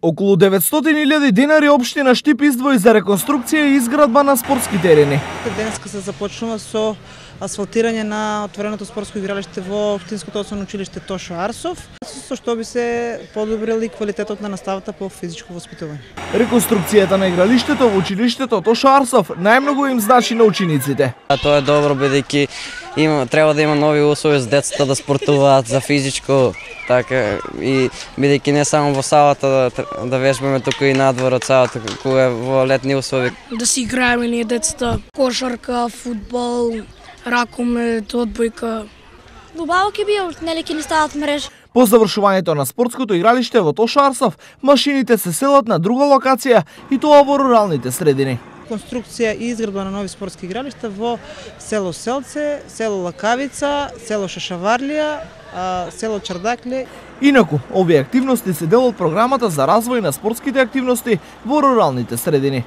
Околу 900.000 денари општина Штип издвои за реконструкција и изградба на спортски терени. Денеска се започнува со асфалтирање на отвореното спортско игралиште во Општинското основно училиште Тошо Арсов, со што би се подобрил и квалитетот на наставата по физичко воспитување. Реконструкцијата на игралиштето во училиштето Тошо Арсов најмногу им значи на учениците. Тоа е добро бидејќи треба да има нови услови за децата да спортуваат за физичко, така и бидејќи не само во салата да вежбаме, туку и надвор од салата кога е во летни услови. Да си играеме ние децата, кошарка, фудбал, ракомет, одбојка. Убаво ќе биде, нели ќе ни стават мрежа. По завршувањето на спортското игралиште во Тошо Арсов, машините се селат на друга локација и тоа во руралните средини. Конструкција и изградба на нови спортски игралишта во село Селце, село Лакавица, село Шашаварлија, село Чардакле. Инаку, овие активности се дел од програмата за развој на спортските активности во руралните средини.